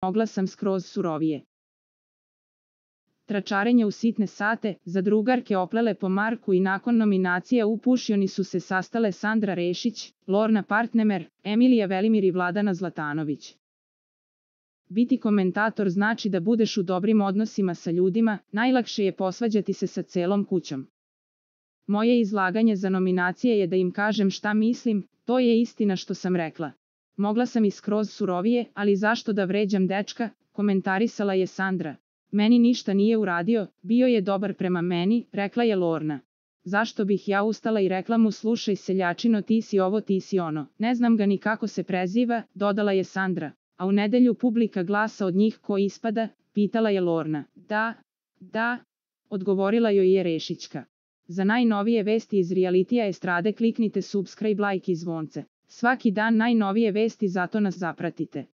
mogla sam skroz surovije. Tračarenje u sitne sate, za drugarke oplele po Marku i nakon nominacija u Pušioni su se sastale Sandra Rešić, Lorna Partnemer, Emilija Velimir i Vladana Zlatanović. Biti komentator znači da budeš u dobrim odnosima sa ljudima, najlakše je posvađati se sa celom kućom. Moje izlaganje za nominacije je da im kažem šta mislim, to je istina što sam rekla. Mogla sam i skroz surovije, ali zašto da vređam dečka, komentarisala je Sandra. Meni ništa nije uradio, bio je dobar prema meni, rekla je Lorna. Zašto bih ja ustala i rekla mu slušaj seljačino ti si ovo ti si ono, ne znam ga ni kako se preziva, dodala je Sandra. A u nedelju publika glasa od njih ko ispada, pitala je Lorna. Da, odgovorila joj je Rešićka. Za najnovije vesti iz realitija estrade kliknite subscribe, like i zvonce. Svaki dan najnovije vesti, zato nas zapratite.